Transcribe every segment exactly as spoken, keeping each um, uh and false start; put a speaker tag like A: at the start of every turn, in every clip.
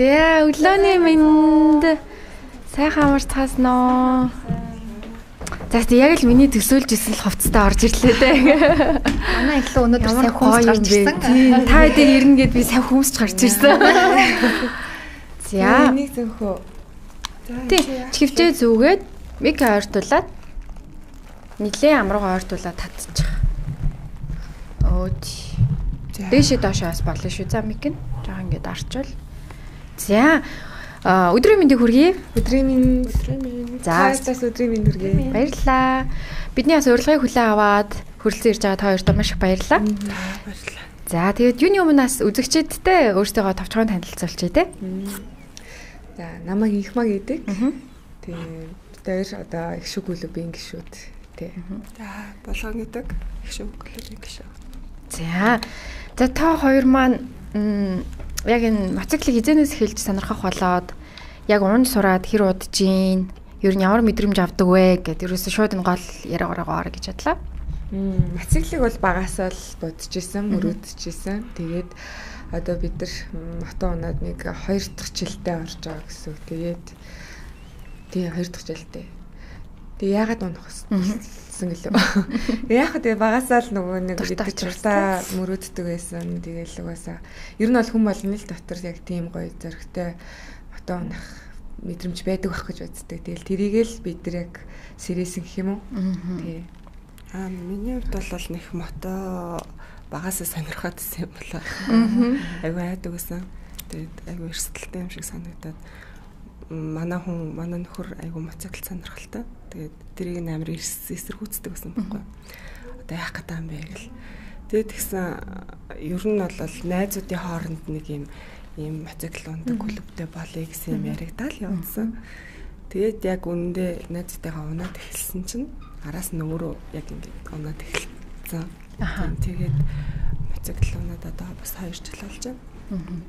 A: За өглөөний минь сайхан амарч цаасноо. За яг л миний төсөөлж исэн л хувцастай орж ирлээ дээ.
B: Манай их л өнөөдөр сайн хүмүүс гарч ирсэн.
A: Тийм та дээр ирнэ гэд би сайн хүмүүс гарч ирсэн. За
C: нэг зөвхөө.
A: Тийм чивчээ зүгээд миг ойртуулаад нилээ амруугаа ойртуулаад татчих. Өөд. Дэшээ доошоос болно шүү. За миг нь жоо ингээд арчвал. За өдрийн мэндийг хүргэе.
C: Өдрийн мэнд. Өдрийн мэнд.
A: За
C: цаас өдрийн мэнд хүргэе.
A: Баярлалаа. Бидний бас урилгыг хүлээн аваад хүрэлцэн ирж байгаа та хоёртоо маш их баярлалаа.
C: Баярлалаа.
A: За тэгээд юуны өмнөөс үзэгчдэдтэй өөрсдөө товчхон танилцуулчих тий.
C: За намайг Инхмаг гэдэг. Тэгээд дээр одоо их шиг клубын гишүүд тий.
D: За болгон гэдэг их шиг клубын гишүүд.
A: За. За та хоёр маань яг энэ мотоциклыг хизэнээс эхэлж сонирхох болоод яг унд сураад хэр удаж гин ер нь ямар мэдрэмж авдаг вэ гэд ерөөсөө шууд энэ гол яриагаараа гэж бодлоо.
C: Мотоциклыг бол багасаа л бодож исэн, мөрөөдөж исэн. Тэгээд одоо бид нар мото унаад нэг хоёр дахь жилдээ орж байгаа гэсэн. Тэгээд тий хоёр дахь жилдээ. Тэгээ яагаад унах гэсэн гэлээ. Яагаад тэгээ багасаа л нөгөө нэг гэдэг чуртаа мөрөөддөг байсан. Тэгээл угаасаа ер нь бол хүн болгоны л дотор яг тийм гоё зөрөгтэй мото унах мэдрэмж байдаг байх гэж боддог. Тэгээл тэрийгэл бид нар яг сэрээсэн гэх юм уу? Тий.
D: Аа миний хувьд бол нэг мото багасаа сонирхоод байсан юм болоо. Айгу хайдаг байсан. Тэгээд айгу эрсдэлтэй юм шиг санагдаад манай хүн манай нөхөр айгу мотоцикл сонирхолтой. Тэгээд тэрийг амар эсэргүүцдэг байсан байхгүй. Одоо яах гэдэг юм бэ гэл. Тэгээд тэгсэн ер нь бол найзуудын хооронд нэг юм ийм мотоцикл ундаг клубтэй болъё гэсэн юм яригдаад явуулсан. Тэгээд яг үнэндээ найзтайгаа унаад эхэлсэн чинь араас нь өөрөө яг ингээд унаад эхэлсэн. Тэгээд мотоцикл унаад одоо бас хоёр жил болж байна.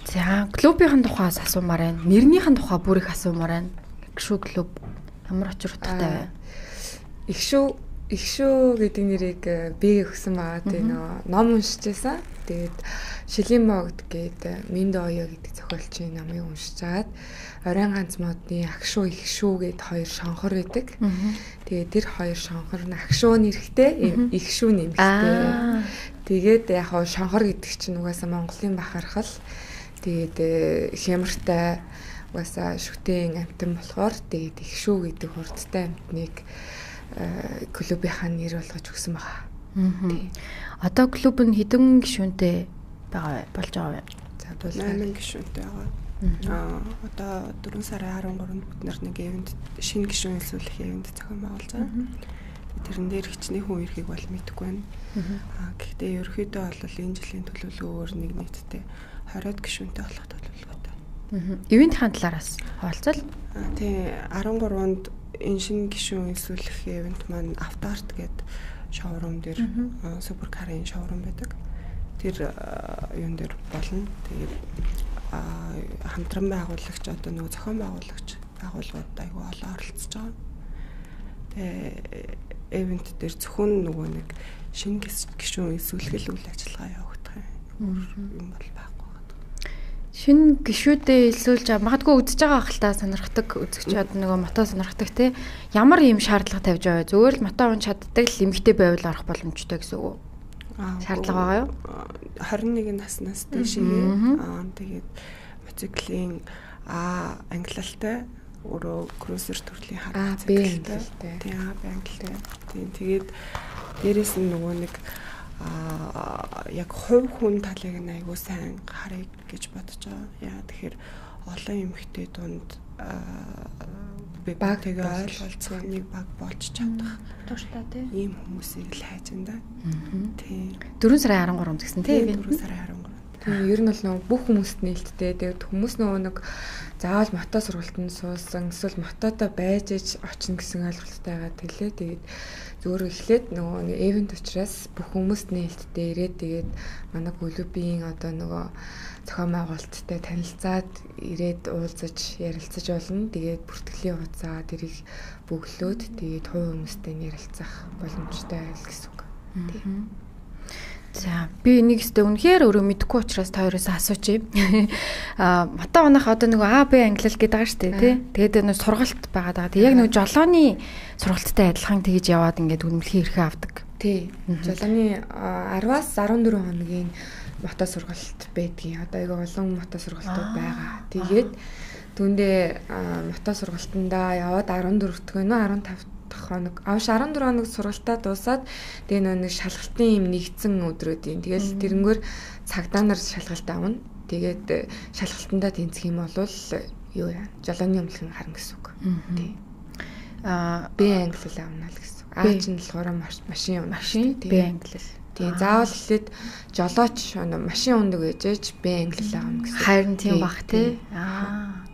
A: За клубийн тухаас асуумаар байна. Нэрнийхэн тухай бүр их асуумаар байна. Шүү клуб ямар очир утгатай вэ?
C: Их шүү их шүү гэдэг нэрийг би өгсөн байгаа. Тэгээ нөө ном уншиж байсан. Тэгээд Шилийн могд гэдэг Миндо оё гэдэг зохиолчийн номыг уншичаад Оройн ганц модны Агшуу их шүү гэд хоёр шонхор байдаг. Тэгээд тэр хоёр шонхор нь Агшуу нэрхтэй их шүү нэмэлттэй. Тэгээд яг хоо шонхор гэдэг чинь угаасаа Монголын бахархал. Тэгээд хямртай угаасаа шүтэн амтан болохоор тэгээд их шүү гэдэг хурдтай амтныг клубийнхаа нэр болгож өгсөн байгаа.
A: Одоо клуб нь хэдэн гишүүнтэй байгаа болж байгаа вэ?
D: За бол найман гишүүнтэй байгаа. Аа одоо дөрвөн сарын харин гурванд бид нар нэг ивент шинэ гишүүн хэлсүүлэх ивент зохион байгуулж байгаа. Тэрэн дээр хичнээн хүн ирэхийг бол мэдэхгүй байна. Аа гэхдээ ерөөхдөө бол энэ жилийн төлөвлөгөөр нэг нийтдээ хариуд гишүүнтэй болох төлөвлөгөөтэй.
A: Ивентийн талаараас хаалцал.
D: Аа тий харин гурванд энэ шинэ гишүүн хэлсүүлэх ивент маань автоарт гэдэг шоурум дээр суперкарын шоурум байдаг. Тэр юун дээр болно. Тэгээд хамтран байгуулагч одоо нөгөө зохион байгуулагч байгууллагууд айгүй олон оролцож байгаа. Тэгээ эвент дээр зөвхөн нөгөө нэг шинэ гишүүн эсвэл үйл ажиллагаа явагдах юм бол байхгүй байна.
A: Шинэ гишүүдээ илсүүлж магадгүй үзэж байгаа хальтаа сонирхдаг үзэгчид нөгөө мото сонирхдаг те ямар юм шаардлага тавьж байгаа вэ? Зүгээр л мото унж чаддаг л эмэгтэй байвал орох боломжтой гэсэн үг үү? Аа шаардлага байгаа юу?
D: хорин нэг наснаас дэшээ аа тэгээд мотоциклийн а англиалтай өөрөө круизер төрлийн хараа
C: циклтэй.
D: Тийм англиалтай. Тийм тэгээд дээрэс нь нөгөө нэг а яг хувь хүн талыг нь айгуу сайн харъя гэж бодож байгаа. Яа тэгэхээр олон эмэгтэй дунд
C: баг
D: тэгээ ойлголцох нэг баг болж чадах.
A: Тууштай тийм.
D: Ийм хүмүүсийг л хайж энэ. Тийм.
A: дөрвөн сарын харин гурван гэсэн тийм.
D: дөрвөн сарын харин гурван.
C: Тийм ер нь бол нөгөө бүх хүмүүст нээлттэй. Тэгээд хүмүүс нөгөө нэг заавал мото сургалтанд суусан эсвэл мотото байж иж очно гэсэн ойлголттой байгаа тэлээ. Тэгээд зүгээр эхлээд нөгөө нэг эвент учраас бүх хүмүүст нээлттэй ирээд тэгээд манай клубийн одоо нөгөө зохион байгуулалттай танилцаад ирээд уулзаж ярилцаж болно. Тэгээд бүртгэлийн хугацаа тэрийг бөглөөд тэгээд хувь хүмүүстэй ярилцах боломжтой байл гэсэн үг. Тийм.
A: За би нэг өстө үнэхээр өөрөө мэдэхгүй учраас та хоёроос асуучих юм. Аа мата онох одоо нөгөө А Б англи гэдэг байгаа шүү дээ тий. Тэгээд нөгөө сургалт байгаа даа. Яг нөгөө жолооны сургалттай адилхан тэгж яваад ингээд үнэмлэхий эрхээ авдаг.
C: Тий. Жолооны араваас арван дөрвөн хоногийн мото сургалт байдгийн. Одоо айгаа олон мото сургалтууд байгаа. Тэгээд түүндээ мото сургалтандаа яваад арван дөрөв дэх вэ нөө арван тав хоног авш арван дөрөв хоног сургалтаа дуусаад тэгээ нэг шалгалтын юм нэгдсэн өдрүүдийн тэгэл тэрнгөр цагдаа нар шалгалт авна. Тэгээд шалгалтандаа тэнцэх юм бол юу яа жолооны өмнөх харна гэсэн үг. Тий. Аа Б англи авна л гэсэн. А чинь болохоор машин юм.
A: Машин Б англи.
C: Тий. Заавал хэлээд жолооч машин ундаг ээжэж Б англи авна гэсэн.
A: Харин тийм бах тий. Аа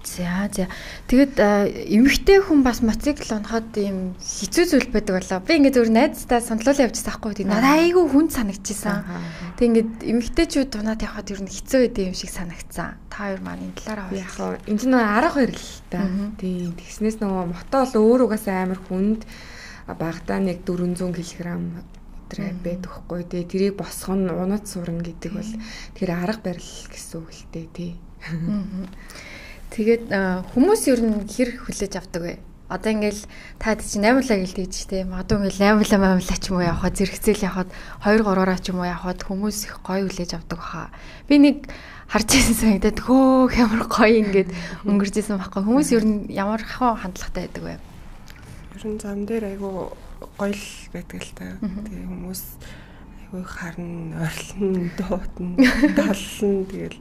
A: За за. Тэгэд эмэгтэй хүн бас мотоцикл унахад ийм хэцүү зүйл байдаг болоо. Би ингээд зөвөр найзтай сондлуулаа явчихсан байхгүй тийм. Надад айгүй хүн санагдчихсан. Тэг ингээд эмэгтэйчүүд унаад явхад ер нь хэцүү байдаг юм шиг санагдсан. Та хоёр маань энэ талаараа
C: яг хаа энэ нь арга барил л та. Тийм. Тэгснээс нөгөө мото бол өөр угаасаа амар хүнд багтаа нэг дөрвөн зуун килограмм өдрөө байдаг хгүй тий. Тэрийг босгох нь унаад сурна гэдэг бол тэр арга барил гэсэн үг л дээ тий.
A: Тэгээд хүмүүс ер нь хэр хүлээж авдаг вэ? Одоо ингээл та чинь аймуулаа гэлдэг ч тийм. Одоо ингээл аймуулаа аймуулаа ч юм уу явахад зэрэгцээл явахад хоёр гураараа ч юм уу явахад хүмүүс их гоё хүлээж авдаг баха. Би нэг харж ирсэн санагдаад хөөх ямар гоё ингээд өнгөржсэн байхгүй. Хүмүүс ер нь ямар хаа хандлагатай байдаг вэ?
D: Ер нь зам дээр айгу гоё л байдаг л та. Тэгээ хүмүүс айгу харна, ойрлон, дуутна, таллна тэгэл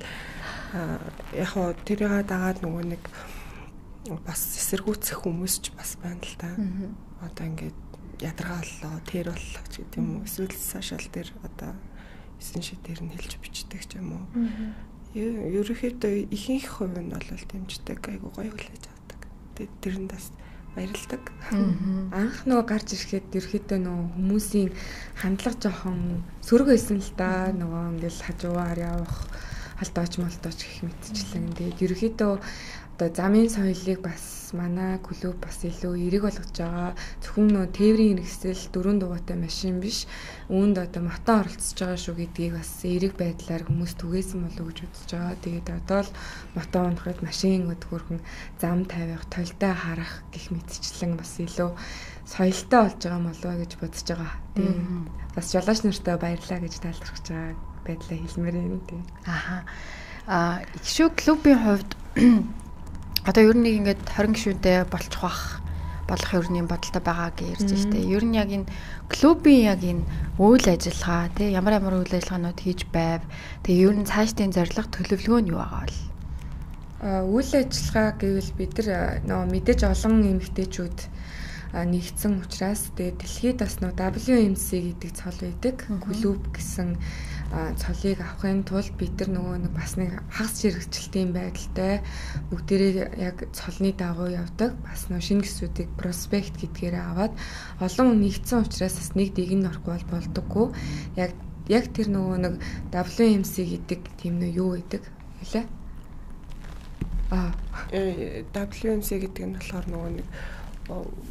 D: а яг хоо тэрийг дагаад нөгөө нэг бас эсэргүүцэх хүмүүс ч бас байна л да. Одоо ингээд ядаргааллаа, тэр боллоо ч гэдэг юм уу. Эсвэл сошиал дээр одоо эсэн шид дээр нь хэлж бичдэг ч юм уу. Ерөнхийдөө ихэнх хувь нь бол дэмждэг, айгу гоё хүлээж авдаг. Тэгээд тэрэнд бас баярлдаг.
C: Анх нөгөө гарч ирэхэд ерөөхдөө нөгөө хүмүүсийн хандлага жоохон сөрөг байсан л да. Нөгөө ингээл хажуугаар явах алдаач молдооч гэх мэтчлэн. Тэгээд ерөөхдөө одоо замын соёлыг бас манай клуб бас илүү эерэг болгож байгаа. Зөвхөн нөө тээврийн хэрэгсэл дөрөв дугуйтай машин биш. Үүнд одоо мото оролцож байгаа шүү гэдгийг бас эерэг байдлаар хүмүүс түгээсэн болов уу гэж үзэж байгаа. Тэгээд одоо л мото унахад машин өдгөрхөн зам тавих, толтой харах гэх мэтчлэн бас илүү соёлтой болж байгаа болов уу гэж бодож байгаа. Тэгээд бас жолооч нартай баярлалаа гэж талархаж байгаа байдлаа хэлмээр юм тийм.
A: Аха. А их шүү клубын хувьд одоо ер нь ингээд хорин гишүүнтэй болчих бах болох ерний бодолтой байгаа гэж ярьж штэ. Ер нь яг энэ клубын яг энэ үйл ажиллагаа тий ямар ямар үйл ажиллагаанууд хийж байв. Тэгээ ер нь цаашдын зорилго төлөвлөгөө нь юу байгаа вэ?
C: А үйл ажиллагаа гэвэл бид нар нөө мэдээж олон эмэгтэйчүүд нэгдсэн учраас тэгээ дэлхийд бас нөө дабл ю эм си гэдэг цол байдаг. Клуб гэсэн цолыг авахын тулд бид нар нөгөө нэг бас нэг хагас хэрэгжилтийн байдалтай бүгдээрээ яг цолны дагуу явдаг. Бас нөгөө шинэ гисүүдийг проспект гэдгээрээ аваад олон хүн нэгдсэн учраас бас нэг дэг нь орохгүй бол болдоггүй. Яг яг тэр нөгөө нэг дабл ю эм си гэдэг тийм нөө юу гэдэг хэлээ? Аа,
D: дабл ю эм си гэдэг нь болохоор нөгөө нэг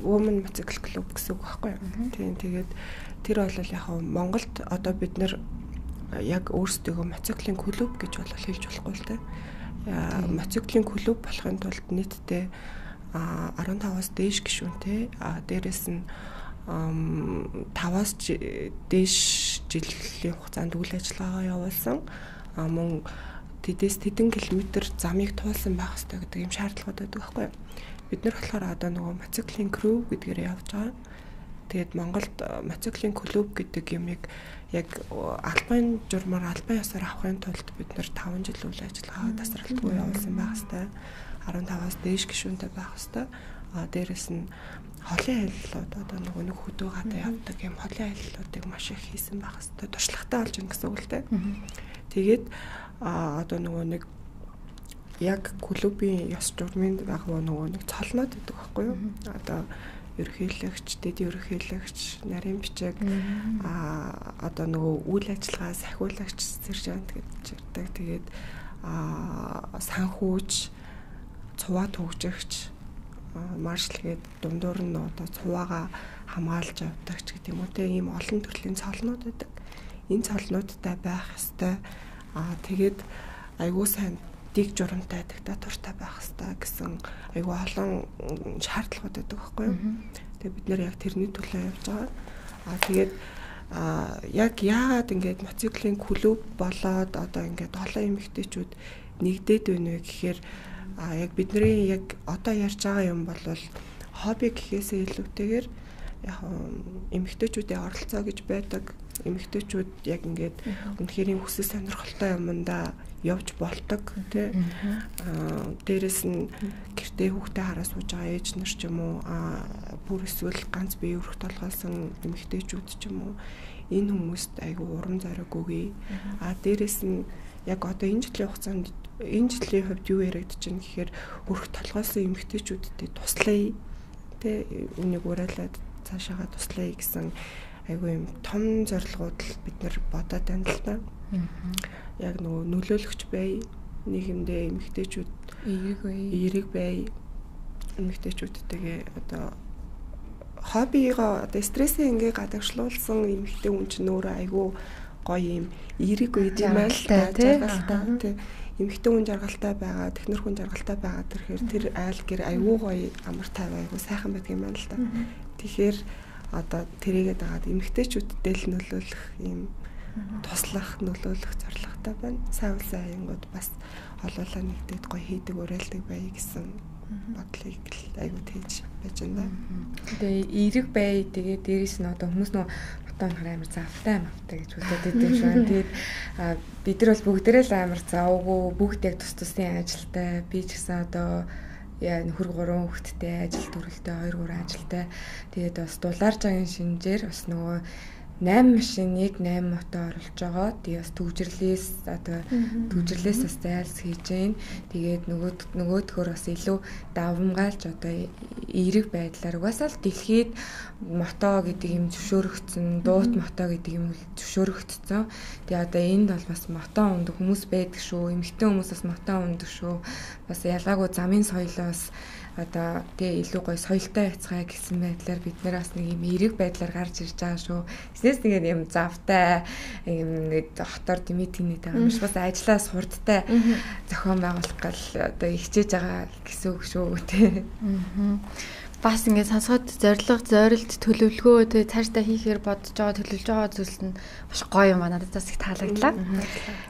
D: Women Motorcycle Club гэсэн үг байхгүй юу? Тийм тэгээд тэр бол яг Монголд одоо бид нэр яг өөрсдөө мотоциклын клуб гэж бол хэлж болохгүй л дээ. Мотоциклын клуб болохын тулд нийтдээ арван таваас дээш гишүүнтэй, дээрэс нь таваас дээш жилийн хугацаанд үйл ажиллагаагаа явуулсан. Мөн тэдээс тэдэн километр замыг туулсан байх хэрэгтэй гэдэг юм шаардлагууд байдаг байхгүй юу? Бид нар болохоор одоо нөгөө мотоциклын crew гэдгээр явж байгаа. Тэгээд Монголд мотоциклын клуб гэдэг юмыг яг албан журмаар албан ёсоор авахын тулд бид нар таван жил үйл ажиллагаа тасралтгүй явуулсан байх хэвээр арван таваас дээш гишүүнтэй байх хэвээр. А дээрэс нь холын аяллууд одоо нөгөө нэг хөдөө гадаа явдаг юм холын аяллуудыг маш их хийсэн байх хэвээр. Туршлагатай болж ин гэсэн үг л дээ. Тэгээд а одоо нөгөө нэг яг клубын ёс журмын дагуу нөгөө нэг цолноод гэдэг байхгүй юу? Одоо ерөнхийлөгч, дэд ерөнхийлөгч, нарийн бичиг а одоо нөгөө үйл ажиллагаа сахиулагч, сержант гэж ярьдаг. Тэгээд а санхүүж, цуваа төгжигч, маршал гээд дундуур нь одоо цуваагаа хамгаалж явдаг ч гэдэг юм уу те ийм олон төрлийн цолнууд байдаг. энэ цолнуудтай байх ёстой. Аа тэгээд айгуу сайн дэг журамтай диктатуртай байх ёстой гэсэн айгуу олон шаардлагууд байдаг байхгүй юу? Тэгээд бид нэр яг тэрний төлөө явж байгаа. Аа тэгээд аа яг яагаад ингээд моциклийн клуб болоод одоо ингээд олон эмэгтэйчүүд нэгдээд байна вэ гэхээр аа яг бидний яг одоо ярьж байгаа юм бол хобби гэхээсээ илүүтэйгээр яг эмэгтэйчүүдийн оролцоо гэж байдаг. Эмэгтэйчүүд яг ингээд үнэхээр хүсэл сонирхолтой юмдаа явж болдог тий. Аа дээрэс нь гэртээ хүүхдээ хараа сууж байгаа ээж нар ч юм уу аа бүр эсвэл ганц бие өрх толгойсон эмэгтэйчүүд ч юм уу энэ хүмүүст айгүй урам зориг өгье. Аа дээрэс нь яг одоо энэ жилийн хугацаанд энэ жилийн хувьд юу яригдаж байна гэхээр өрх толгойсон эмэгтэйчүүдэд туслая тий. Үнийг уриалаад цаашаага туслая гэсэн айгүй юм том зорилгууд л бид нар бодоод байна л та. Яг нөгөө нөлөөлөгч бай, нийгэмдээ эмэгтэйчүүд
C: эерэг бай,
D: эерэг бай, эмэгтэйчүүдтэйгээ одоо хоббигоо одоо стрессээ ингээ гадагшлуулсан эмэгтэй хүн чинь өөрөө айгүй гоё юм эерэг үед юм аа л та тий. Эмэгтэй хүн жаргалтай байгаа, технэр хүн жаргалтай байгаа тэрхээр тэр айл гэр айгүй гоё амар тайваа айгүй сайхан байдаг юм аа л та. Тэгэхээр одоо тэрийгээд дагаад эмэгтэйчүүдтэй л нөлөөлөх юм туслах, нөлөөлөх зорилготой байна. Сайн улсын аянгууд бас олоолаа нэгдээд гоё хийдэг уриалдаг бай гэсэн бодлыг айгүй тээж байж байна.
C: Тэгээ эерэг бай тэгээ дээрэс нь одоо хүмүүс нөө ботон хараа амар завтай мавтай гэж үздэг юм шиг байна. Тэгээд бид нар бол бүгдээрээ л амар завгүй, бүгд яг тус тусын ажилтай. Би ч гэсэн одоо яа нөхөр гурван хүүхэдтэй, ажил төрөлтэй, хоёр гурван ажилтай. Тэгээд бас дулаарж байгаа шинжээр бас нөгөө найман машиныг найман мото оруулж байгаа. Тэгээ бас төвжирлээс одоо төвжирлээс бас зайлс хийж гэн. Тэгээд нөгөө нөгөөдхөр бас илүү давмгаалж одоо эерэг байдлаар угаасаа л дэлхийд мото гэдэг юм зөвшөөрөгдсөн, дуут мото гэдэг юм зөвшөөрөгдсөн. Тэгээ одоо энд бол бас мото ундаг хүмүүс байдаг шүү. Эмэгтэй хүмүүс бас мото ундаг шүү. Бас ялгаагүй замын соёлоос одоо тэгээ илүү гоё соёлтой яцгаа гэсэн байдлаар бид нэр бас нэг юм эерэг байдлаар гарч ирж байгаа шүү. Тэснээс тэгээд юм завтай юм нэг хотоор димитинэт байгаа юм шиг бас ажиллаа сурдтай зохион байгуулах гал одоо хичээж байгаа гэсэн үг шүү тий.
A: Бас ингээд сонсоход зориг, зорилт, төлөвлөгөө тэгээ цаашдаа хийхээр бодож байгаа, төлөвлөж байгаа зүйлс нь маш гоё юм байна. Надад бас их таалагдлаа.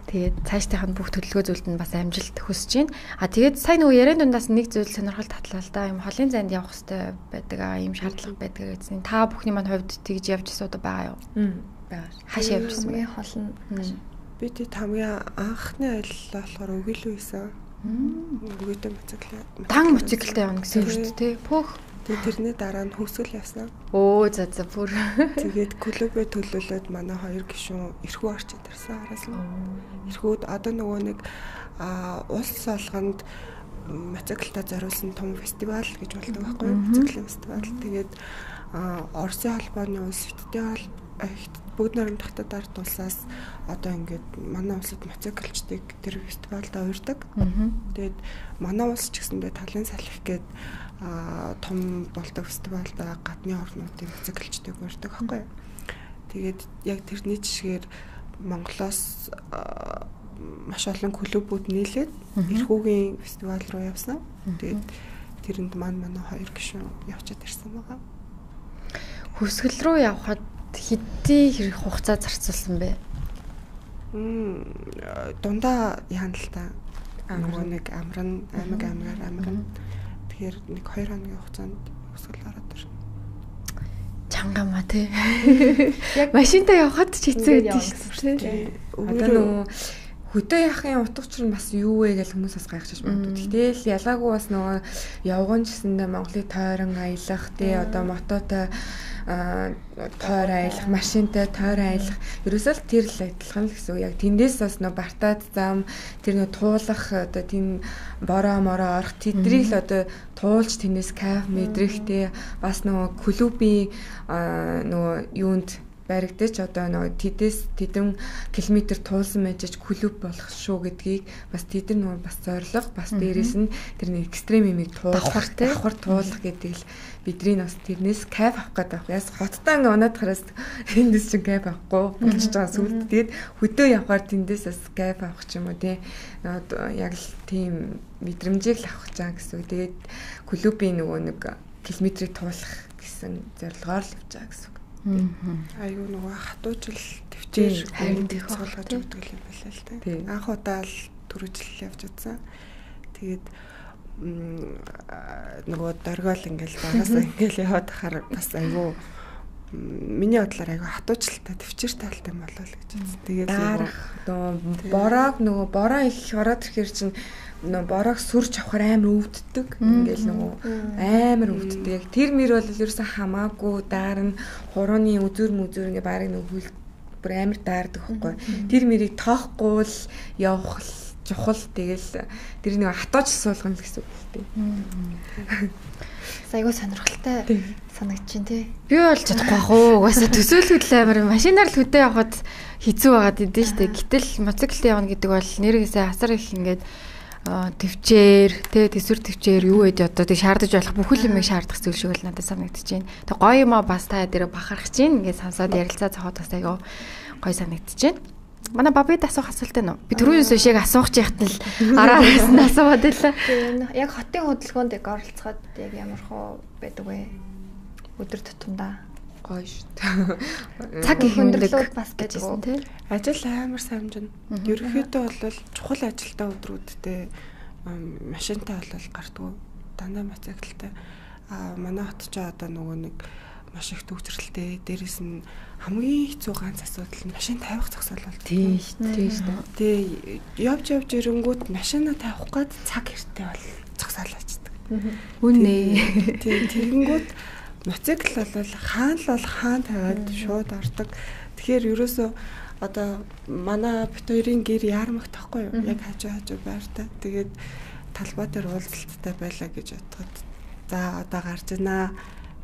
A: Тэгээд цаашдынх нь бүх төлөвлөгөө зүйлд нь бас амжилт хүсэж байна. А тэгээд сайн нөгөө яриан дундаас нэг зүйл сонирхол татлаа л да. Юм холын зайд явах хэрэгтэй байдаг аа, юм шаардлага байдаг гэсэн. Та бүхний маань хувьд тэгж явж суудаг байгаа юу?
C: Байгаа.
A: Хаашаа явжсэн бэ?
B: Хол нь
D: би тэг хамгийн анхны аяллаа болохоор өгүүлүү хийсэн. Өгөөтэй моциклээ.
A: Дан моциклтэй явна гэсэн үг шүү дээ, тий. Пөх.
D: Тэгээд тэрний дараа нь хөвсгөл явсан.
A: Оо за за бүр.
D: Тэгээд клубээ төлөөлөөд манай хоёр гишүүн эрхүү орчид ирсэн араас нь. Эрхүүд одоо нөгөө нэг улс олгонд моциклтай зориулсан том фестивал гэж болдог байхгүй юу? Моциклийн фестивал. Тэгээд Оросын холбооны улс фестивал бүгд найрамд хатад улсаас одоо ингээд манай улсад моциклчдыг тэр фестивалд уурдаг. Тэгээд манай улс ч гэсэндээ талын салхи гээд а том болдог фестивалд гадны орнуудын моциклчдыг уурдаг байхгүй юу. Тэгээд яг тэрний жишгээр Монголоос маш олон клубүүд нийлээд эрхүүгийн фестивал руу явсан. Тэгээд тэрэнд маань манай хоёр гишүүн явчаад ирсэн байгаа.
A: Хөвсгөл рүү явхад хэдий хэрэг хугацаа зарцуулсан бэ?
D: Мм дундаа яана л та. Нөгөө нэг амран, аймаг аймагаар амран. Тэгэхээр нэг хоёр хоногийн хугацаанд хөвсгөл ороод ирсэн.
A: Чангамаа тий. Яг машинтаа явхад ч хэцүү байдаг шүү дээ.
C: Одоо нөгөө хөдөө яхахын утга учир нь бас юу вэ гэж хүмүүс бас гайхаж байна. Гэтэл ялгаагүй бас нөгөө явган гэсэндээ Монголыг тойрон аялах тий одоо мототой тойр аялах, машинтай тойр аялах ерөөсөө л тэр л адилхан л гэсэн үг. Яг тэндээс бас нөө бартаад зам тэр нөө туулах одоо тийм бороо мороо орох тэдрийг л одоо туулж тэндээс кайф мэдрэх тий бас нөгөө клубийн нөгөө юунд баригдаж одоо нөгөө тэдэс тэдэн километр туулсан мэжж клуб болох шүү гэдгийг бас тэдэр нөгөө бас зорилго бас дээрээс нь тэр нэг экстрем имийг туулах давхар туулах гэдэг л бидний бас тэрнээс кайф авах гэдэг байх. Яс хоттой ингээ унаад хараас эндээс чинь кайф авахгүй болчихж байгаа сүлд. Тэгээд хөдөө явхаар тэндээс бас кайф авах ч юм уу тий. Яг л тийм мэдрэмжийг л авах гэж байгаа гэсэн. Тэгээд клубын нөгөө нэг километрийг туулах гэсэн зорилгоор л явж байгаа гэсэн.
D: Айгу нөгөө хатуужил төвчээр харин тэх суулгаж өгдөг юм байна л да. Анх удаа л түрүүжил явж удсан. Тэгээд нөгөө дөргөөл ингээл багасаа ингээл яваад хахаар бас айгу миний бодлоор айгу хатуужилтай төвчээр талтай юм болоо л гэж үзсэн. Тэгээд
C: нөгөө бороо нөгөө бороо их ороод ирэхэр чинь нөгөө бороог сүрж авахар амар өвддөг. Ингээл нөгөө амар өвддөг. Яг тэр мөр бол ерөөсөн хамаагүй даарна хурууны үзүр мүзүр ингээ барыг нөгөө хөл бүр амар даардаг байхгүй. Тэр мөрийг тоохгүй л явах чухал тэгэл тэр нэг хатууж суулгана л гэсэн үг л дээ.
B: Айгуу сонирхолтой санагдаж байна тий.
A: Би бол чадахгүй бах уу. Угаасаа төсөөлөхөд амар машинаар л хөдөө явахад хэцүү байгаад идэв штэ. Гэтэл мотоциклд явна гэдэг бол нэрээсээ асар их ингээд төвчээр тэ төсвөр төвчээр юу вэ одоо тэг шаардаж болох бүхэл юмыг шаардах зүйл шиг л надад санагдаж байна. Тэг гоё юм аа бас та дээр бахарах чинь ингээд сонсоод ярилцаа цохоод бас айгаа гоё санагдаж байна. Манай бабид асуух асуулт байна уу? Би түрүүнээс шиг асуух яхад л араараас нь асууад байлаа.
B: Тийм яг хотын хөдөлгөөнд яг оролцоход яг ямар хөө байдаг вэ? Өдөр тутамдаа
C: гоё шүү.
B: Цаг их өндөрлүүд бас гэжсэн тий.
D: Ажил амар самжина. Ерөнхийдөө бол чухал ажилтаа өдрүүдтэй машинтай бол гардггүй. Дандаа мотоциклтай. Аа манай хот ч одоо нөгөө нэг маш их төвчрэлтэй. Дээрээс нь хамгийн хэцүү ганц асуудал нь машин тавих зогсоол бол.
A: Тийм шүү. Тийм шүү.
D: Тэгээ явж явж ирэнгүүт машина тавих гээд цаг хэрэгтэй бол зогсоол очдөг.
A: Үнэ.
D: Тийм тэгэнгүүт мотоцикл бол хаан л бол хаан тавиад шууд ордог. Тэгэхээр ерөөсөө одоо манай бит хоёрын гэр яармагт тахгүй юу? Яг хажуу хажуу байртай. Тэгээд талбай дээр уулзалттай байлаа гэж бодоход за одоо гарч ийна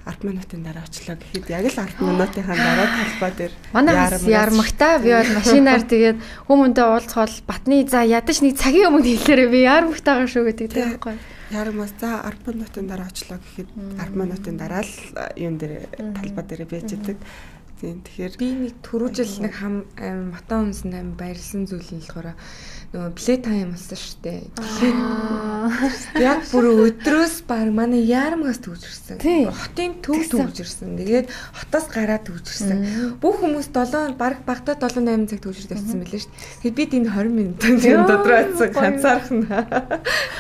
D: ард минутын дараа очлоо гэхэд яг л ард минутынхаа дараа талбай дээр
A: манай яармагтаа би бол машинаар тэгээд хүмүүнтэй уулзахол батны за ядаж нэг цагийн өмнө хэлээрээ би яармагтаагаа шүү гэдэг тийм байхгүй.
D: Ярамаас за ард минутын дараа очлоо гэхэд ард минутын дараа л юм дээр талбай дээр байж идэг. Тийм тэгэхээр
C: би нэг түрүүжил нэг хам мотон үнсэн аим баярлсан зүйл нь болохоор нөгөө плей тайм болсон шүү дээ. Яг бүр өдрөөс баг манай яармагаас төвжирсэн. Хотын төв төвжирсэн. Тэгээд хотоос гараад төвжирсэн. Бүх хүмүүс долоо баг багтаа долоо найман цаг төвжирд явсан мэлээ шүү дээ. Тэгээд бид энэ тwenty минутын дотроо атсан ганцаархан.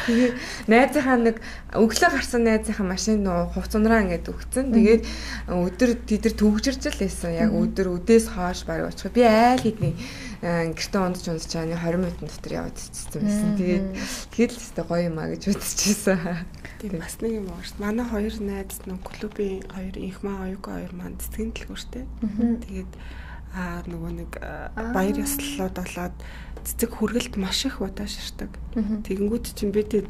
C: Тэгээд найзынхаа нэг өглөө гарсан найзынхаа машин нөгөө хувц унраа ингээд өгцөн. Тэгээд өдөр тэдэр төвжирч л байсан. Яг өдөр өдөөс хойш баг очих. Би айл хэдний гэртээ ундаж ундаж чааны twenty минутын дотор яваад цэцсэн байсан. Тэгээд тэгээд л өстой гоё юм а гэж бодчихсон.
D: Тийм бас нэг юм байна шүү. Манай хоёр найз нэг клубын хоёр инх маа оюуг хоёр маань цэцгийн дэлгүүртэй. Тэгээд аа нөгөө нэг баяр ёслолууд болоод цэцэг хүргэлт маш их удаа ширтэг. Тэгэнгүүт чинь бид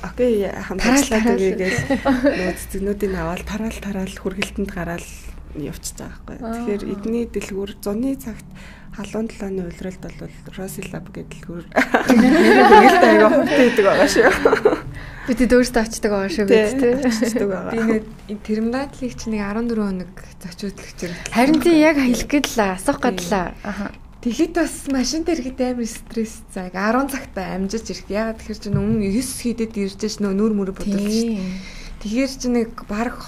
D: окей хамтарчлаад өгьгээл нөгөө цэцэгнүүдийг аваад тараал тараал хүргэлтэнд гараал явчихж байгаа байхгүй. Тэгэхээр эдний дэлгүүр зуны цагт халуун талааны улиралд бол Rosilab гэдэг дэлгүүр хүргэлт аяга хурдан идэг байгаа шүү.
A: Бид өөрсдөө очдог байгаа шүү бид тий.
D: Очдог байгаа.
C: Би нэг терминатлыг чи нэг fourteen хоног зочиодлогч.
A: Харин тий яг хэлэх гээд л асуух гээд л. Аха.
C: Тэгэхэд бас машин дээр ихэд амар стресс цаа. ten цагтаа амжиж ирэх. Ягаад тэгэхээр чи өмнө nine хийдэд ирж ш нөө нүр мөрө бодож ш. Тэгэхээр чи нэг баг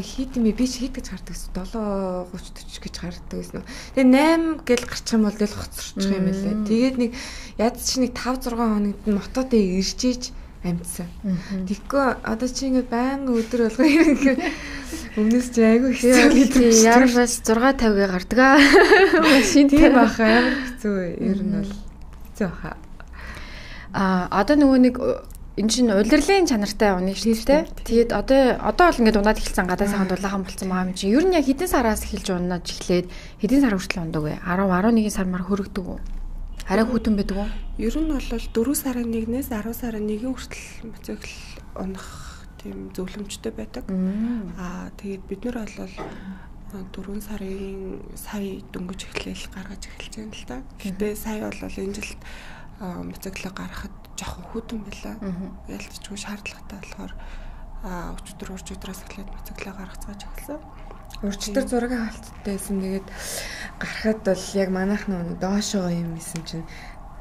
C: хийд юм би чи хийд гэж гардаг гэсэн. seven thirty forty гэж гардаг гэсэн. Тэгээ eight гэл гарчих юм бол л хоцорчих юм лээ. Тэгээд нэг яд чи нэг five six хоногт мотодоо ирж иж амтсан. Тэгэхгүй одоо чи ингэ байнга өдөр болго ингэ өмнөөс чи айгүй хэцүү
A: гэдэг. Ярмаас six fifty-гээ гардаг аа.
C: Машин тийм баха амар хэцүү. Ер нь бол хэцүү баха.
A: Аа одоо нөгөө нэг энэ чинь улирлын чанартай уны шүү дээ. Тэгээд одоо одоо бол ингээд унаад эхэлсэн гадаа сайхан дулаахан болсон байгаа юм чи. Ер нь яг хэдэн сараас эхэлж унаад эхлээд хэдэн сар хүртэл ундаг вэ? ten eleven сар мар хөрөгдөг үү? Арай хүүтэн байдаг уу?
D: Ер нь бол four сарын one-ээс ten сарын one хүртэл мотоцикл унах тийм зөвлөмжтэй байдаг. Аа тэгээд бид нар бол дөрвөн сарын сая дөнгөж эхлээл гаргаж эхэлж байна л да. Гэхдээ сая бол энэ жилд моциклог гаргахад жоохон хүйтэн байлаа. Ялцчгүй шаардлагатай болохоор өчигдөр урж өдрөөс эхлээд моциклог гаргацгааж эхэлсэн.
C: Урчтар зураг хаалттай байсан. Тэгээд гарахад бол яг манайх нөө доошоо юм исэн чинь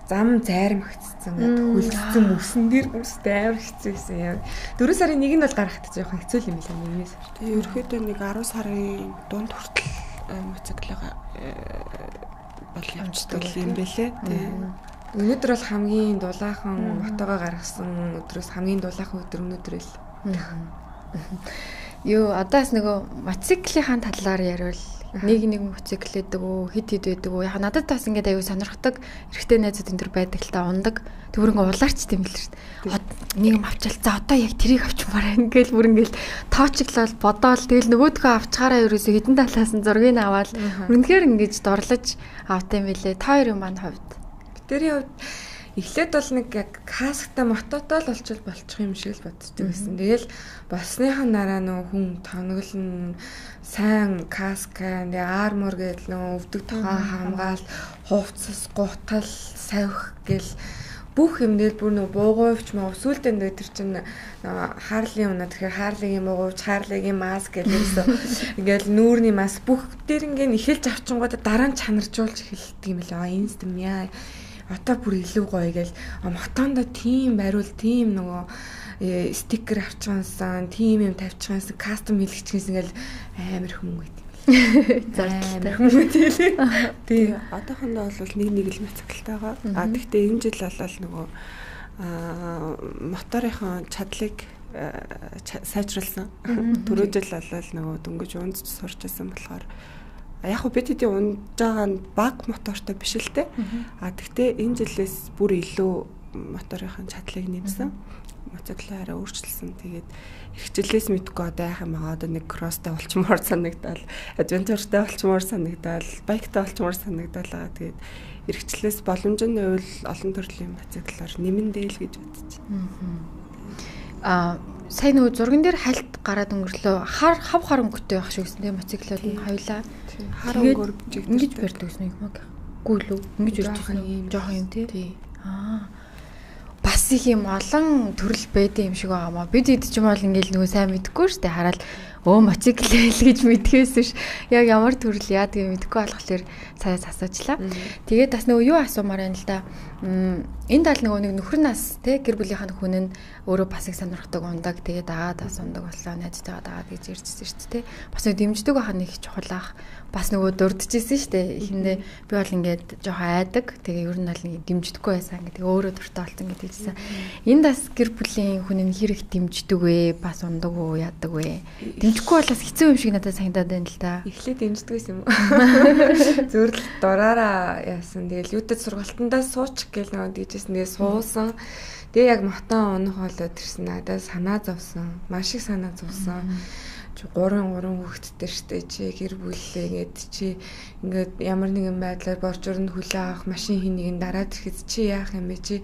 C: зам зайрамгцсан гэдэг хөлдсөн мөсөн дээр бүстэй амар хэцүү байсан юм. дөрвөн сарын нэг нь бол гарахад жоохон хэцүү юм билээ нэгний сар.
D: Тэгээ ерөөхдөө нэг арван сарын дунд хүртэл моциклог бол явцдаг юм бэлээ. Тэгээ
C: өнөөдөр бол хамгийн дулаахан мотогоо гаргасан өдрөөс хамгийн дулаахан өдөр өнөөдөр л.
A: Юу одоос нөгөө мотоциклын талаар ярил. Нэг нэг моцикл гэдэг үү, хит хит байдаг уу? Яг надад бас ингээд аюу сонирхдаг эрэгтэй найзууд энэ төр байдаг л та ундаг. Тэг бүрэн улаарч тийм л шүү дээ. Нэг юм авчаал. За одоо яг тэрийг авчмаар ингээл бүр ингээл тоочглол бодоол тэгэл нөгөөдгөө авчгаараа ерөөсө хідэн талаас нь зургийг аваад үнэхээр ингэж дорлож авт юм билээ. Та хоёрын маань хувьд.
C: Тэрийн хувьд эхлээд бол нэг яг касктай мототой л олчвол болчих юм шиг л боддог байсан. Тэгэл болсныхан дараа нөө хүн тоноглон сайн каск, тэгээ армор гэдэг нөө өвдөг тохон хамгаалт, хувцас, гутал, савих гэл бүх юм дээр бүр нөө буугуйвч мөн сүултэн дээр тэр чинь хаарлын унаа тэгэхээр хаарлын буугуйвч, хаарлын маск гэсэн ингээл нүүрний маск бүх дээр ингээд ихэлж авчингуудаа дараа нь чанаржуулж эхэлдэг юм лээ. Энэ юм яа. Одоо бүр илүү гоё гээл мотондо тийм бариул тийм нөгөө стикер авчихсан, тийм юм тавьчихсан, кастом хийлгэчихсэн ингээл амар хүмүүс байт юм.
A: Зарлалтай
C: хүмүүс тийм.
D: Тийм. Одоохондоо бол нэг нэг л моциклтайгаа. А тэгтээ энэ жил бол нөгөө аа моторынхон чадлыг сайжруулсан. Түрүү жил бол нөгөө дөнгөж унж сурч байсан болохоор яг хөө бид хэдийн унж байгаа нь баг мотортой биш л те. А тэгтээ энэ жилээс бүр илүү моторынхын чадлыг нэмсэн. Моциклоо арай өөрчилсөн. Тэгээд эрхчлээс мэдгүй одоо яах юм байгаа. Одоо нэг кросстай болчмоор санагдал, адвенчуртай болчмоор санагдал, байктай болчмоор санагдал байгаа. Тэгээд эрхчлээс боломжны үйл олон төрлийн моциклоор нэмэндээ л гэж бодчих.
A: Аа сая нөгөө зурган дээр хальт гараад өнгөрлөө хар хав хар өнгөтэй байх шиг гэсэн тийм моциклууд нь хоёлаа
D: хар өнгөөр
A: ингэж барьдаг гэсэн юм яг гүйл үү ингэж өрчсөн юм жоохон юм тий. Аа бас их юм олон төрөл байдсан юм шиг байгаамаа. Бид хэд ч юм бол ингээл нөгөө сайн мэдэхгүй шүү дээ. Хараад өө моцикл л гэж мэдхээс биш. Яг ямар төрөл яадгийг мэдэхгүй болохоор саяас асуучлаа. Тэгээд бас нөгөө юу асуумаар байна л да. Энэ тал нөгөө нэг нөхөр нас те гэр бүлийнхэн хүн нь өөрөө бас их сонирхдаг ундаг. Тэгээд дагаад бас ундаг боллоо. Найзтайгаа дагаад гэж ирчихсэн шүү дээ. Бас нэг дэмждэг байх нэг чухал ах. Бас нөгөө дурдчихсэн шүү дээ. Эхэндээ би бол ингээд жоохон айдаг. Тэгээ ер нь бол нэг дэмждэггүй байсан. Ингээд өөрөө дуртай болсон гэдэг хэлсэн. Энд бас гэр бүлийн хүн нь хэрэг дэмждэг вэ? Бас ундаг уу, яадаг вэ? Дэмжихгүй бол бас хэцүү юм шиг надад санагдаад байна л да.
C: Эхлээд дэмждэгс юм уу? Зүгээр л дураараа яасан. Тэгэл юудэд сургалтандаа суучих гэл нөгөө дийжсэн. Тэгээ суусан. Тэгээ яг мотон унах болоод ирсэн. Надад санаа зовсон. Маш их санаа зовсон. гурван гурван хүүхэдтэй штэ чи гэр бүлээ ингээд чи ингээд ямар нэгэн байдлаар борчорнд хүлээ авах машин хин нэгэн дараад ирэхэд чи яах юм бэ чи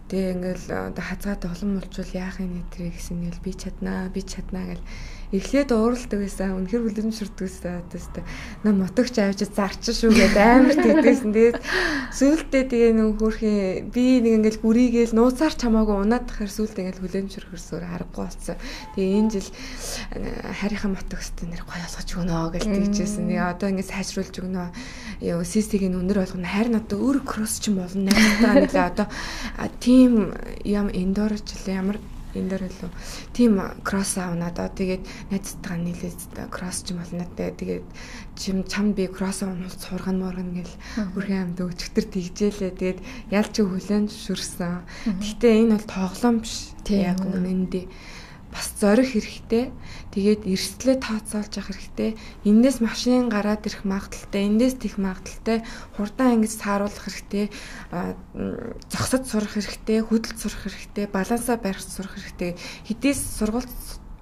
C: тэгээ ингээд хазгаад олон мулчвал яах юм нэ гэсэн нэл би чаднаа би чаднаа гэл эхлээд ууралдаг байсан үнэхэр хүлэмжшүрдэг байсан тест нам мотогч авчиж зарчин шүү гэдэг амар тэгдээсэн тэгээд сүүлдээ тэгээ нэг хөөрхийн би нэг ингээд гүрийгээл нууцаар чамаагүй унаад тахаар сүүлдээ ингээд хүлэмжшүрхэрсээр аргагүй болсон тэгээ энэ жил харийнхаа мотогчтой нэр гоё олгож өгнө гэж тэгжсэн нэг одоо ингээд сайжруулж өгнө ёо систигийн өнөр болгоно харин одоо өөр кросс ч юм болно найзтайгаа нэлээ одоо тим ям эндорч ямар эндэр лөө тим кросс аавна доо тэгээд найзтайгаа нийлээд кросс ч юм болно тэгээд чим чам би кросс аавнууд сурган моргон гэл үрхэн амд өчтөр тэгжээлээ тэгээд ялч хүлэн шүрсэн. Гэхдээ энэ бол тоглоом биш. Яг үнэндээ бас зорих хэрэгтэй. Тэгээд эрсдлээ тооцоолж явах хэрэгтэй. Эндээс машин гараад ирэх магадaltaй, эндээс тех магадaltaй, хурдан ингэж сааруулах хэрэгтэй, зогсож сурах хэрэгтэй, хөдөлж сурах хэрэгтэй, балансаа барих сурах хэрэгтэй. Хэдийс сургалт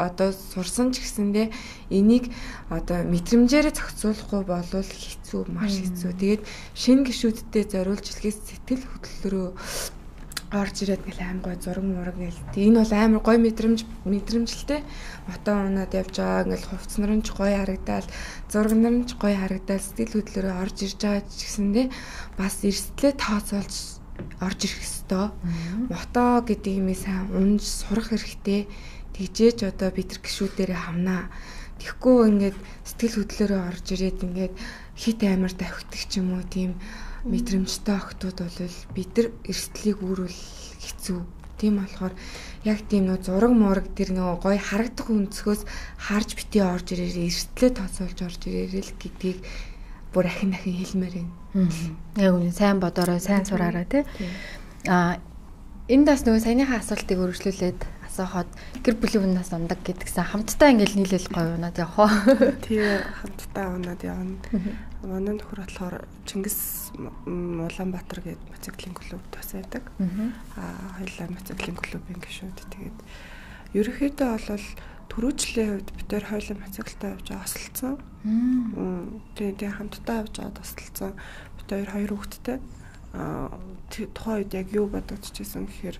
C: одоо сурсан ч гэсэндээ энийг одоо мэдрэмжээрээ зохицуулахгүй болвол хэцүү, маш хэцүү. Тэгээд шинэ гишүүдтэй зориулж хэлхээс сэтгэл хөдлөлөөрөө орж ирээд гэл аим гой зураг мураг гэл. Энэ бол амар гой мэдрэмж мэдрэмжлтэй. Мото унаад явж байгаа ингээл хувцс нар нь ч гоё харагдаал, зураг нар нь ч гоё харагдаал, сэтгэл хөдлөлөөр орж ирж байгаа ч гэсэндээ бас эрсдлээ тооцоолж орж ирэх ёстой. Мото гэдэг юмээ сайн унж сурах хэрэгтэй. Тэгжээч одоо бид нар гişүүдээрээ хамнаа. Тэгэхгүй ингээд сэтгэл хөдлөлөөрөө орж ирээд ингээд хит амар давхитдаг ч юм уу тийм мэдрэмжтэй охтууд бол бид нар эрсдлийг үүрүүл хэцүү. Тийм болохоор яг тийм нөө зураг мураг тэр нөө гоё харагдах өнцгөөс харж бити орж ирээрээ эрсдлээ тооцоолж орж ирээрээ л гэдгийг бүр ахин ахин хэлмээр байна.
A: Яг үнэ сайн бодорой, сайн сураарай тий. Аа энэ дас нөгөө саяныхаа асуултыг өргөжлүүлээд асуухад гэр бүлийн хүнээс ундаг гэдгсэн хамтдаа ингээл нийлэл гоё унаад явах уу?
D: Тэгээ хамтдаа унаад явна. Манай нөхөр болохоор Чингис Улаанбаатар гэдэг мотоциклын клуб тасаадаг. Аа хоёулаа мотоциклын клубын гишүүд. Тэгээд ерөнхийдөө бол түрүүжлийн хувьд бид тээр хоёулаа мотоциклтай явж байгаа тасалцсан. Тэгээд тэгээ хамтдаа явж байгаа тасалцсан. Бид хоёр хоёр хүүхэдтэй. Аа тухайн үед яг юу бодогдчихсэн гэхээр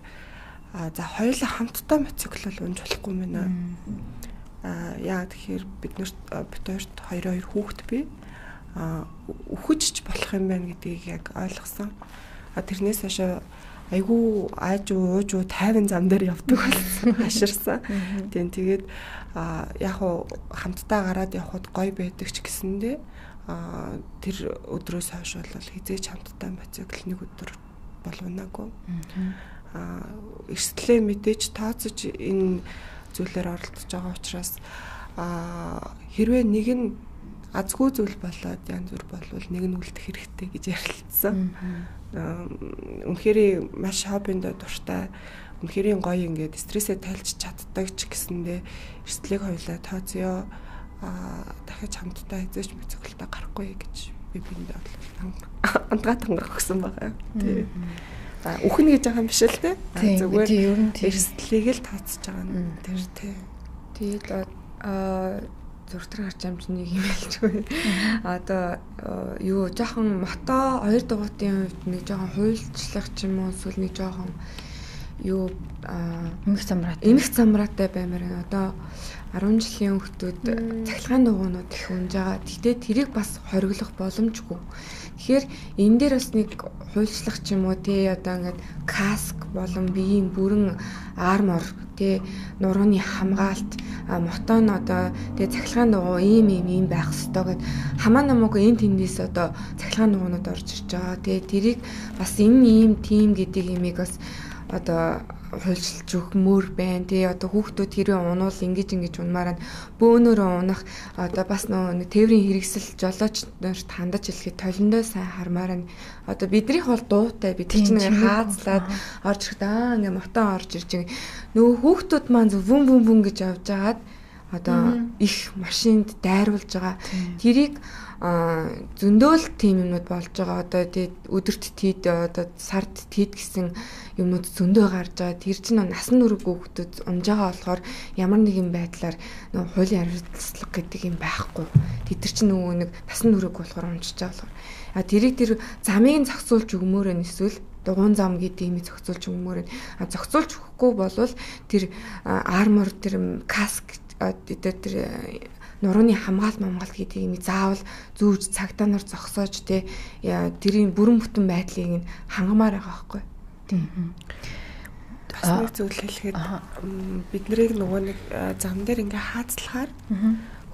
D: а за хоёулаа хамтдаа мотоцикл унж болохгүй мэнэ. А яа тэгэхээр бид нарт бид хоёрт хоёр хоёр хүүхэд бий. А үхэж ч болох юм байна гэдгийг яг ойлгосон. А тэрнээс хойш айгүй ааж уу ууж уу тайван зам дээр явдаг болсон. Хаширсан. Тийм тэгээд а яг хуу хамтдаа гараад явхад гоё байдаг ч гэсэндээ а тэр өдрөөс хойш бол хизээч хамтдаа мотоцикл нэг өдөр болвнаагүй. А эрсдлээ мэдээж тооцож энэ зүйлээр оролдож байгаа учраас а хэрвээ нэг нь азгүй зүйл болоод янз бүр болвол нэг нь үлдэх хэрэгтэй гэж ярилцсан. Үнэхээр маш хоббиндээ дуртай, үнэхээр гоё ингээд стрессээ тайлж чаддаг ч гэсэндээ эрсдлийг хоёулаа тооцъё. А дахиж хамтдаа эзэж мотоциклтай гарахгүй гэж би биндээ бол андгаа тангах гэсэн байгаа. Тий. Үхэн гэж байгаа юм биш л те.
A: Зүгээр ер нь
D: эрсдлийг л тооцож байгаа нь тэр тий.
C: Тэгээд аа зургатар гарч амж нэг юм хэлчихгүй. Одоо юу жоохон мото хоёр дугуйтын хувьд нэг жоохон хуйлчлах ч юм уу эсвэл нэг жоохон юу
A: эмх замраад
C: эмх замраатай баймаар байна. Одоо арван жилийн хүүхдүүд цахилгаан дугуйнууд их унж байгаа. Гэтэ тэрийг бас хориглох боломжгүй. Тэгэхээр энэ дээр бас нэг хуульчлах ч юм уу тий одоо ингээд каск болон биеийн бүрэн армор тий нурууны хамгаалт мотон одоо тий цахилгаан дугуй ийм ийм ийм байх ёстой гэд хамаа намаагүй энэ тэндээс одоо цахилгаан дугуйнууд орж ирж байгаа. Тэгээ тэрийг бас энэ ийм тим гэдэг имийг бас одоо хуульчилж өгмөр байна. Тэгээ одоо хүүхдүүд тэрийг унуул ингэж ингэж унмаараа бөөнөрөө унах одоо бас нэг тээврийн хэрэгсэл жолооч нарт хандаж хэлэхэд толиндоо сайн хармаар нь одоо биднийх бол дуутай бид чинь хаацлаад орж ирэхэд аа ингээ мотон орж ирж байгаа. Нөгөө хүүхдүүд маань зүн бүн бүн гэж явж агаад одоо их машинд дайруулж байгаа. Тэрийг зөндөөл тийм юмнууд болж байгаа. Одоо тэгээд өдөрт тийд одоо сард тийд гэсэн юмнууд зөндөө гарч байгаа. Тэр чинь насан турш хүүхдүүд унж байгаа болохоор ямар нэгэн байдлаар нөгөө хуулийн хариуцлага гэдэг юм байхгүй. Тэд чинь нөгөө нэг насан турш болохоор унжиж байгаа болохоор. А тэрийг тэр замыг зохицуулж өгмөр нь эсвэл дугуун зам гэдэг юм зохицуулж өгмөр нь. А зохицуулж өгөхгүй болвол тэр армор тэр каск тэр тэр нурууны хамгаалт мамгаалт гэдэг юм заавал зүүж цагдаа нар зогсоож тэ тэрийн бүрэн бүтэн байдлыг нь хангамаар байгаа байхгүй.
A: Тийм.
D: Бас нэг зүйл хэлэхэд бид нарыг нөгөө нэг зам дээр ингээ хаацлахаар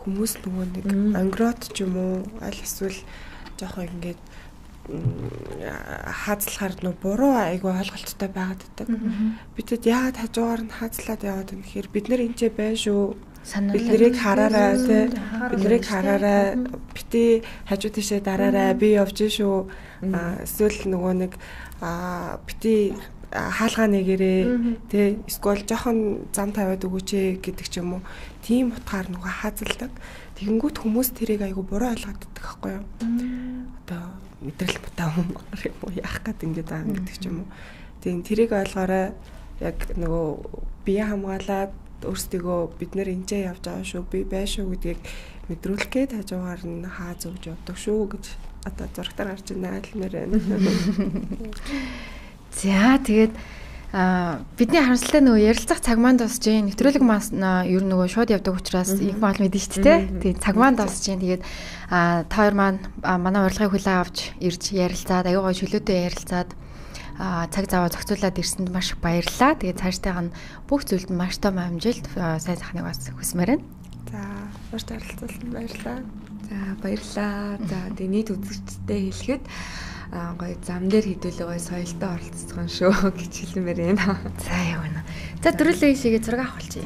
D: хүмүүс нөгөө нэг ангрот ч юм уу аль эсвэл жоохон ингээд хаацлахаар нөгөө буруу айгу ойлголттой байгаад байдаг. Бидэд яагаад хажуугаар нь хаацлаад яваад юм гэхээр бид нар энэ байж шүү. Бид нарыг хараарай тий. Бид нарыг хараарай. Бити хажуу тийшээ дараарай. Би явж шүү. Эсвэл нөгөө нэг бити хаалгаа нэгэрээ тий. Эсвэл жоохон зам тавиад өгөөч гэдэг ч юм уу. Тийм утгаар нөгөө хаазалдаг. Тэгэнгүүт хүмүүс тэрийг айгу буруу ойлгоод байдаг байхгүй юу? Одоо мэдрэл бутаа юм уу яах гээд ингэж байгаа гэдэг ч юм уу. Тийм тэрийг ойлгоорой. Яг нөгөө бие хамгаалаад өөрсдөө бид нэр энэчээ явж байгаа шүү би bay шүү гэдгийг мэдрүүлэх гээд хажуугаар нь хаа зөвж явдаг шүү гэж одоо зургатаар гарч ирнэ айлмаар байна.
A: За тэгээд Аа бидний харамсалтай нөгөө ярилцах цаг маань дуусж гин. Нэвтрүүлэг маань ер нь нөгөө шууд явдаг учраас их мал мэдэн шүү дээ. Тэгээд цаг маань дуусж гин. Тэгээд аа та хоёр маань манай урилгыг хүлээн авч ирж ярилцаад аюугаа чөлөөтэй ярилцаад аа цаг зав зохицуулаад ирсэнд маш их баярлалаа. Тэгээд цаашдаа нь бүх зүйлд маш том амжилт сайн сайхныг бас хүсмээр байна.
C: За маш тарилцуулсан баярлалаа. За баярлалаа. За тэгээд нийт үзэгчдэд хэлэхэд аа гоё зам дээр хідүүлээ гоё соёлтой оролцсон шүү гэж хэлмээр байна.
A: За яа гэнэ. За дөрүлээ шигээ зураг авах болчих.